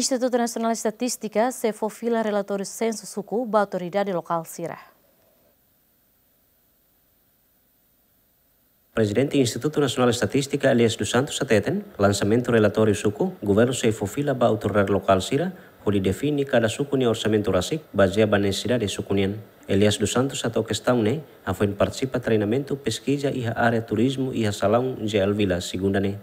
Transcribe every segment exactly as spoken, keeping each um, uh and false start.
Institutu Nasionál Estatístika sei fó fila relatóriu sensu suku ba autoridade lokál sira. Prezidente Institutu Nasionál Estatístika, Elias dos Santos, hateten, lansamentu relatóriu suku, governu sei fó fila ba autoridade lokál sira, hodi define kada suku nia orsamentu rasik, bazeia ba nesesidade suku nian. Elias dos Santos hato'o kestaun ne'e hafoin partisipa treinamentu peskiza iha área turizmu iha salaun J L Vila, segunda ne'e.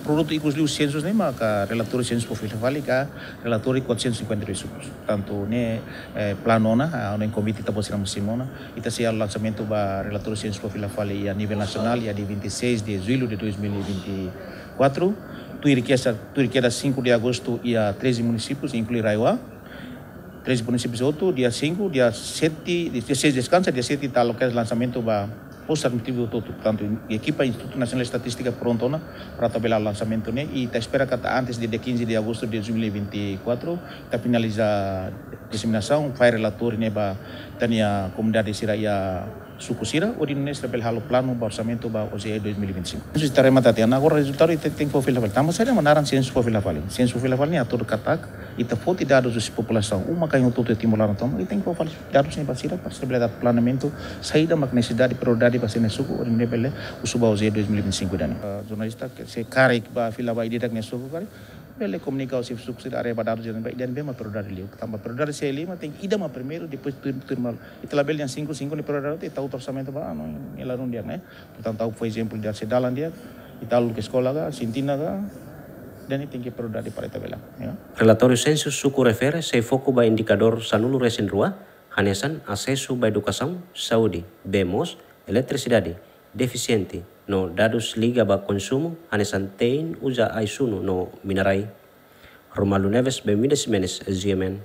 Produtu ikus liu sensu ne'e maka relatóriu sensu fó fila fali ka relatóriu quatrocentos e cinquenta e dois sukus. Tantu ne'e, eh, planu ona, ah, ona iha konvite ita-boot sira mós simu ona, ita sei halo lansamentu ba relatóriu sensu fó fila fali iha nivel nasionál, iha dia vinte e seis de julho de dois mil e vinte e quatro. Tuir kedas, tuir kedas cinco de agosto iha treze munisípius, inklui RAEOA. Treze munisípius hotu, dia cinco, dia sete, dia seis deskansa, dia sete ita halo kedas lansamentu ba postu administrativu hotu-hotu. Portantu, ekipa Institutu Nasionál Estatístika prontu ona para atu bele halo lansamentu ne'e, i ita espera katak antes de dia quinze de agosto de dois mil e vinte e quatro, ita finaliza diseminasaun, fó relatóriu ne'e ba ita-nia komunidade sira iha suku sira, hodi nune'e sira bele halo planu ba orsamentu ba O J E dois mil e vinte e cinco. Ita remata tiha ona, agora rezultadu ita tenke fó fila fali. Tanba saida mak naran sensu fó fila fali? Sensu fó fila fali ne'e atu katak ita foti dadus husi populasaun. Uma kain hotu-hotu iha Timor laran tomak, ita tenke fó fali dadus ne'e ba sira, para sira bele dada planeamentu, saida mak nesesidade, prioridade ba sira-nia suku, hodi nune'e bele husu ba O J E dois mil e vinte e cinco ida-ne'e. Ah, jornalista ke se karik ba fila ba ida-idak nia suku karik, bele komunika husi suku sira haree ba dadus ida-ne'e, ba ida-ne'ebé mak prioridade liu. Tanba prioridade se lima, tenke ida mak primeiru, depois tuir, tuir malu. Ita labele dehan cinco, cinco ne'e prioridade, ita uza orsamentu ba, ah, no, ne'e la dún di'ak ne'e. Portantu, ha'u fó ezemplu ida se dalan di'ak, ita halo ke eskola ka, sintina ka, ida-ne'e tenke prioridade para ita bele, ya. Relatóriu sensu suku refere sei foku ba indikadór sanulu resin rua, hanesan asesu ba edukasaun, saúde, bee moos, eletrisidade, defisiente, no dadus liga ba konsumu, hanesan te'in uza ai-sunu no mina-rai. Romualdo Neves, Benvinda Ximenes, G M N.